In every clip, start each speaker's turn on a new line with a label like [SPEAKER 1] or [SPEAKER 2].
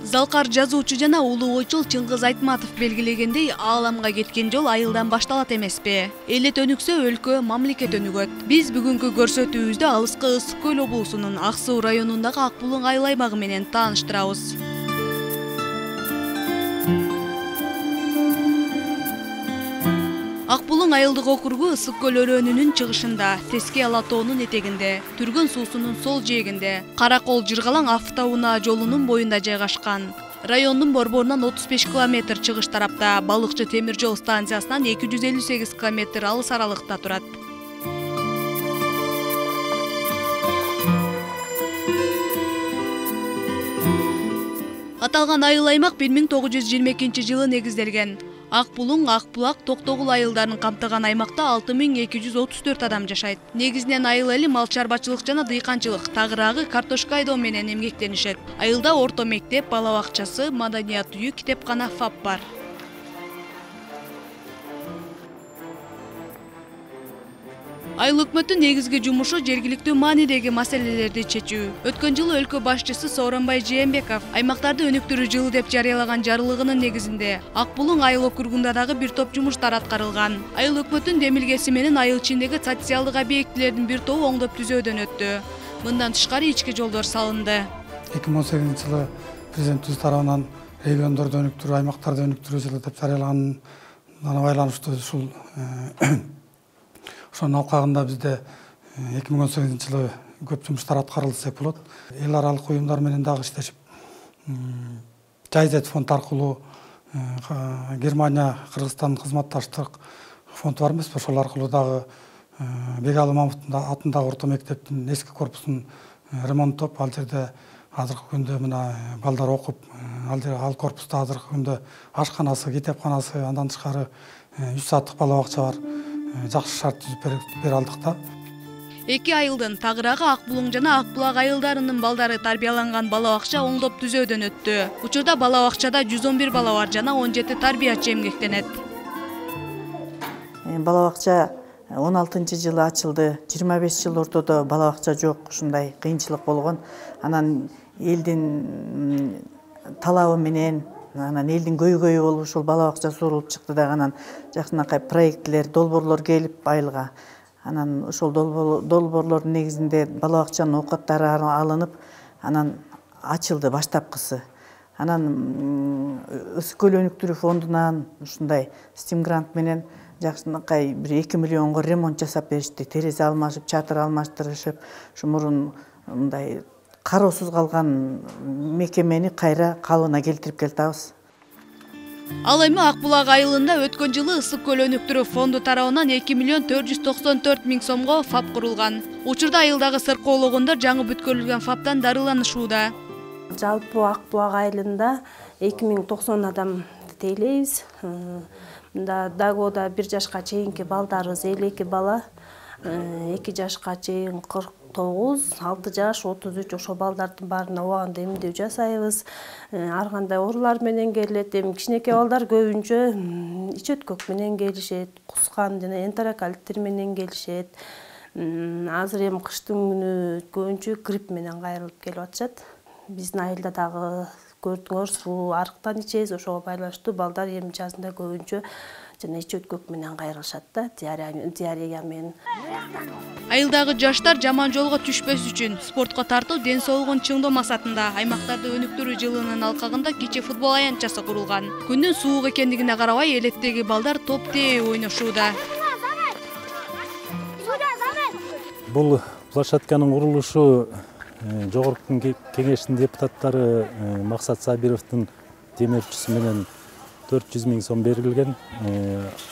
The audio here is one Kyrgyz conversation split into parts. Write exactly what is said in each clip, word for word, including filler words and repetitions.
[SPEAKER 1] Залкар жазуучу жана улуу ойчул Чыңгыз Айтматов белгилегендей, ааламга кеткен жол айылдан башталат эмеспи? Элет өнүксө өлкө, мамлекет өнүгөт. Биз бүгүнкү көрсөтүүбүздө алыскы Ысык көл облусунун Ак Суу районундагы Ак Булуң айыл аймагы менен тааныштырабыз. Ак Булуң айылдык округу Ысык көл өрөөнүнүн чыгышында, Теске Ала тоонун этегинде, Түргөн суусунун сол жээгинде, Каракол Жыргалаң автоунаа жолунун боюнда жайгашкан. Райондун борборунан отуз беш километр чыгыш тарапта, Балыкчы темир жол станциясынан эки жүз элүү сегиз километр алыс аралыкта турат. Аталган айыл аймак бир миң тогуз жүз жыйырма экинчи жылы негизделген. Ак Булуң, Ак Булак, Токтогул айылдарын камтыган аймакта алты миң эки жүз отуз төрт адам жашайт. Негизинен айыл эли мал чарбачылык жана дыйканчылык, тагыраагы картошка айдоо менен эмгектенишет. Айылда орто мектеп, бала бакчасы, маданият үйү, китепкана, ФАП бар. Айыл өкмөттүн негизги жумушу жергиликтүү маанидеги маселелерди чечүү. Өткөн жылы өлкө башчысы Сооронбай Жээнбеков аймактарды өнүктүрүү жылы деп жарыялаган жарлыгынын негизинде Ак Булуң айыл округунда дагы бир топ жумуштар аткарылган. Айыл өкмөттүн демилгеси менен айыл ичиндеги социалдык объектилердин бир тобу оңдоп түзөөдөн өттү. Мындан тышкары ички жолдор салынды.
[SPEAKER 2] эки миң он сегизинчи жылы президентибиз тарабынан региондорду өнүктүрүү, аймактарды өнүктүрүү жылы деп жарыялаган байланыштуу ушул ошонун алкагында бизде эки миң он сегизинчи жылы көп жумуштар аткарылды десек болот. Эл аралык уюмдар менен дагы иштешип, Жайзет фонд аркылуу Германия, Кыргызстан кызматташтык фонд бар эмеспи? Ошол аркылуу дагы Бегалы Мамуттун атындагы орто мектептин эски корпусун ремонттоп, ал жерде азыркы күндө мына балдар окуп, ал жерде ал корпуста азыркы күндө ашканасы, китепканасы, андан тышкары үч сааттык бала бакча бар. Жакшы шарт түзүп бере алдык да.
[SPEAKER 1] Эки айылдын Тагыраагы, Ак Булуң жана Ак Булак айылдарынын балдары тарбияланган бала бакча оңдоп түзөөдөн өттү. Учурда бала бакчада жүз он бир бала бар жана он жети тарбиячы эмгектенет.
[SPEAKER 3] Бала бакча он алтынчы жылы ачылды. жыйырма беш жыл ортодо бала бакча жок, ушундай кыйынчылык болгон. Анан элдин талабы менен, анан элдин көйгөйү болуп ушул бала бакча сурулуп чыкты да, анан жакшынакай проектлер, долбоорлор келип айылга. Анан ошол долбоорлордун негизинде бала бакчанын оокаттары алынып, анан ачылды баштапкысы. Анан Ысык көл өнүктүрүү фондунан ушундай стим грант менен жакшынакай бир эки миллионго ремонт жасап беришти. Терезе алмашып, чатыр алмаштырышып, ушу мурун мындай кароосуз калган мекемени кайра калыбына келтирип келатабыз.
[SPEAKER 1] Ал эми Ак Булак айылында өткөн жылы Ысык көл өнүктүрүү фонду тарабынан эки миллион төрт жүз токсон төрт миң сомго ФАП курулган. Учурда айылдагы сыркоологондор жаңы бүткөрүлгөн ФАПтан дарыланышууда.
[SPEAKER 4] Жалпы Ак Булак айылында эки миң токсон адам тейлейбиз. Мында Дагода бир жашка чейинки балдарыбыз элүү эки бала, эки жашка чейин кырк тогуз, алты жаш, отуз үч ошол балдардын баарына убагында эмдөө жасайбыз. Ар кандай оорулар менен келет. Эми кичинекей балдар көбүнчө ич өткөк менен келишет, кускан жана энтерокалиттер менен келишет. Азыр эми кыштын күнү көбүнчө грипп менен кайрылып келип атышат. Биздин айылда дагы көрдүңөр, суу арыктан ичебиз, ошого байланыштуу балдар эми жазында көбүнчө жана ич өткөк менен кайрылышат да, диарея менен.
[SPEAKER 1] Айылдагы жаштар жаман жолго түшпөс үчүн спортко тартуу, ден соолугун чыңдоо максатында аймактарды өнүктүрүү жылынын алкагында кичи футбол аянтчасы курулган. Күндүн суук экендигине карабай, элеттеги балдар топ тээ ойношууда.
[SPEAKER 5] Бул площадканын курулушу Жогорку кеңештин депутаттары Максат Сабировдун демөөрчүсү менен төрт жүз миң сом берилген.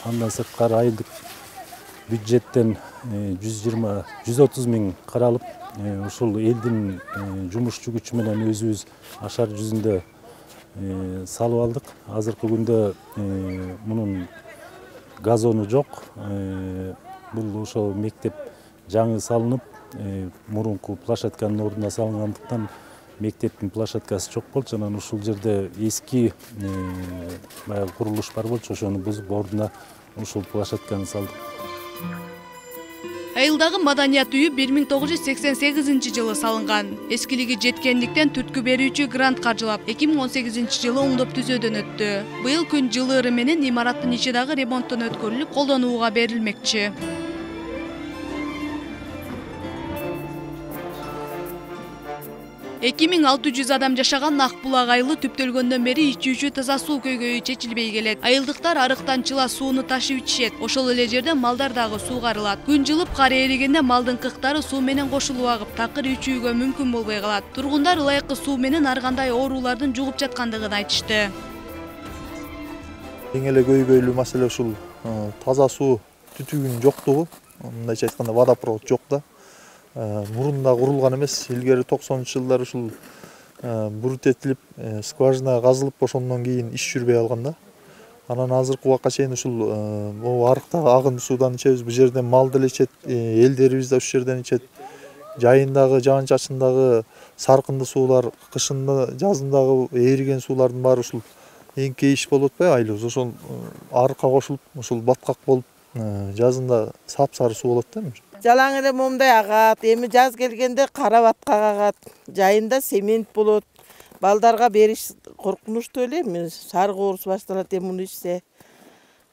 [SPEAKER 5] Андан сырткары айылдык бюджеттен жүз жыйырма жүз отуз миң каралып, ушул элдин жумушчу күчү менен өзүбүз ашар жүзүндө салып алдык. Азыркы күндө мунун газону жок. Бул ошол мектеп жаңы салынып, мурунку площадканын ордуна салынгандыктан мектептин площадкасы жок болчу. Анан ушул жерде эски баягы курулуш бар болчу, ошону бузуп ордуна ушул площадканы салдык.
[SPEAKER 1] Айылдагы маданият үйү бир миң тогуз жүз сексен сегизинчи жылы салынган. Эскилиги жеткендиктен түрткү берүүчү грант каржылап эки миң он сегизинчи жылы оңдоп түзөөдөн өттү. Быйыл күн жылыыры менен имараттын ичи дагы ремонттон өткөрүлүп, колдонууга берилмекчи. эки миң алты жүз адам жашаган Ак булак айылы түптөлгөндөн бери ичүүчү таза суу көйгөйү чечилбей келет. Айылдыктар арыктан чыла сууну ташып ичишет. Ошол эле жерден малдар дагы суугарылат. Күн жылып кар эригенде малдын кыктары суу менен кошулуп агып, такыр ичүүгө мүмкүн болбой калат. Тургундар ылайыкы суу менен ар кандай оорулардын жугуп жаткандыгын айтышты.
[SPEAKER 6] Эң эле көйгөйлүү маселе ушул таза суу түтүгүнүн жоктугу. Мындайча айтканда водопровод жок да. Мурунда курулган эмес, илгери токсонунчу жылдары ушул бурут этилип, скважина казылып, ошондон кийин иш жүрбөй алган да. Анан азыркы убакка чейин ушул могу арыктагы агын суудан ичебиз, бул жерден мал деле ичет, элдерибиз да ушул жерден ичет. Жайындагы, жаан-чачындагы саркынды суулар, кышында, жазындагы эриген суулардын баары ушул эңке иш болуп атпайбы айлыбыз. Ошол арыкка кошулуп, ушул баткак болуп, жазында сапсары суу болот да.
[SPEAKER 7] Жалаң эле момундай агат, эми жаз келгенде кара баткак агат, жайында семент болот. Балдарга бериш коркунучтуу эле, эми сарык оорусу башталат эми муну ичсе.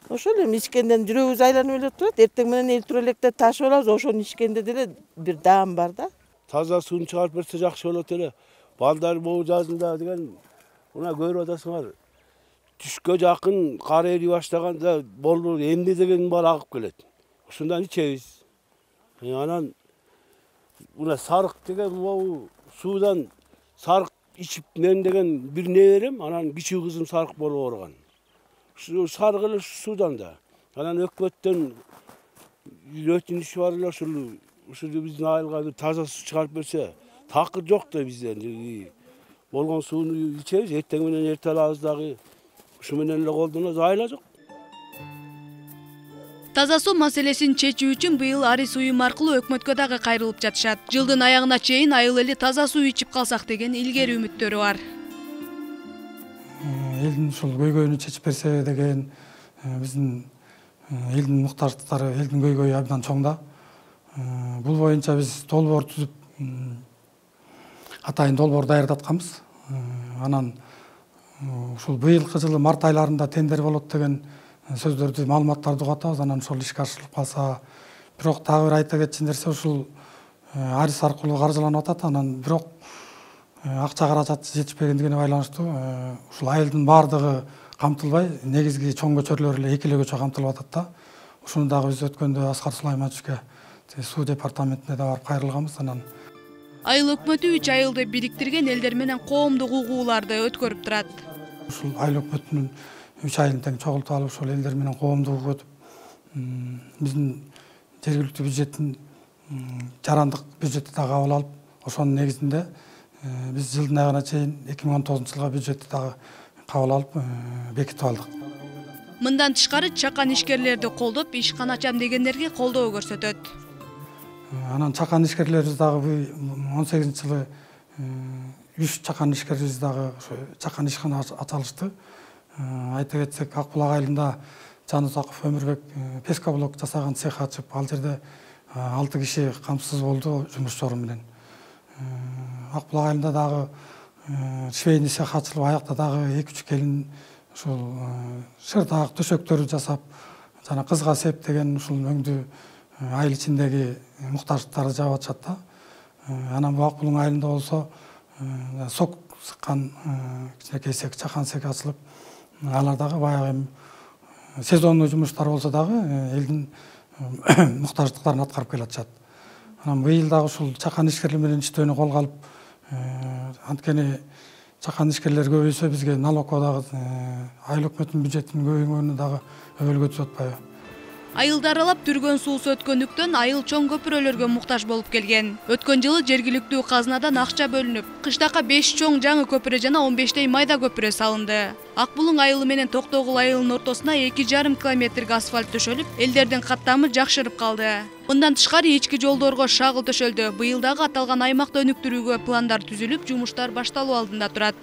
[SPEAKER 7] Ошол эми ичкенден жүрөгүбүз айланып эле турат. Эртең менен элтире электе ташып алабыз, ошону ичкенде деле бир даам бар да.
[SPEAKER 8] Таза сууну чыгарып берсе жакшы болот эле. Балдар могу жазында деген мына көрүп атасыңар. Түшкө жакын кар эри баштаганда болду, эмне деген бар агып келет. Ушундан ичебиз. Анан мына сарык деген могу суудан сарык ичип мен деген бир не берем, анан кичүү кызым сарык болуп ооруган. Ушу сарык эле суудан да. Анан өкмөттөн өтүнүш бар эле ушул ушул биздин айылга таза суу чыгарып берсе, такыр жок да бизден. Болгон сууну ичебиз, эртең менен эрте алабыз дагы. Ушу менен эле колдонобуз, айла жок.
[SPEAKER 1] Таза суу маселесин чечүү үчүн быйыл арис уюм аркылуу өкмөткө дагы кайрылып жатышат. Жылдын аягына чейин айыл эли таза суу ичип калсак деген илгери үмүттөрү бар.
[SPEAKER 2] Элдин ушул көйгөйүн чечип берсе деген биздин элдин муктаждыктары, элдин көйгөйү абдан чоң да. Бул боюнча биз долбоор түзүп, атайын долбоор даярдатканбыз. Анан ушул быйылкы жылы март айларында тендер болот деген сөздөрдү, маалыматтарды угатабыз. Анан ошол ишке ашырылып калса, бирок дагы бир айта кетчү нерсе ушул арис аркылуу каржыланып атат. Анан бирок акча каражаты жетишпегендигине байланыштуу ушул айылдын баардыгы камтылбай, негизги чоң көчөрлөр эле эки эле көчө камтылып атат да. Ушуну дагы биз өткөндө Аскар Сулаймановичке суу департаментине да барып кайрылганбыз. Анан
[SPEAKER 1] айыл өкмөтү үч айылды бириктирген элдер менен коомдук угууларды өткөрүп турат.
[SPEAKER 2] Ушул айыл өкмөтүнүн үч айылын тең чогултуп алып, ошол элдер менен коомдук угуу өтүп, биздин жергиликтүү бюджеттин жарандык бюджетти да кабыл алып, ошонун негизинде биз жылдын аягына чейин эки миң он тогузунчу жылга бюджетти дагы кабыл алып бекитип алдык.
[SPEAKER 1] Мындан тышкары чакан ишкерлерди колдоп, ишкан ачам дегендерге колдоо көрсөтөт.
[SPEAKER 2] Анан чакан ишкерлерибиз дагы он сегизинчи жылы үч чакан ишкерибиз дагы чакан ишкана ачалышты. Айта кетсек, Ак булак айылында Жанузаков Өмүрбек пескоблок жасаган цех ачып, ал жерде алты киши камсыз болду жумуш жору менен. Ак булак айылында дагы швейный цех ачылып, аякта дагы эки үч келин ушул шырдаак төшөктөрү жасап, жана кызга септеген ушул мөңдү айыл ичиндеги муктаждыктарды жаап атышат да. Анан бул Ак булак айылында болсо сок сыккан кичинекей цех, чакан цех ачылып, алар дагы баягы сезонный жумуштар болсо дагы элдин муктаждыктарын аткарып келатышат. Анан быйыл дагы ушул чакан ишкерлер менен иштөөнү колго алып, анткени чакан ишкерлер көбөйсө бизге налогко дагы айыл өкмөтүнүн бюджетинин көбөйгөнү дагы өбөлгө түшүп атпайбы.
[SPEAKER 1] Айылды аралап түргөн суусу өткөндүктөн айыл чоң көпүрөлөргө муктаж болуп келген. Өткөн жылы жергиликтүү казынадан акча бөлүнүп, кыштакка беш чоң жаңы көпүрө жана он бештей майда көпүрө салынды. Ак булак айылы менен Токтогул айылынын ортосуна эки жарым километрге асфальт төшөлүп, элдердин каттамы жакшырып калды. Мындан тышкары ички жолдорго шагыл төшөлдү. Быйыл дагы аталган аймакты өнүктүрүүгө пландар түзүлүп, жумуштар башталуу алдында турат.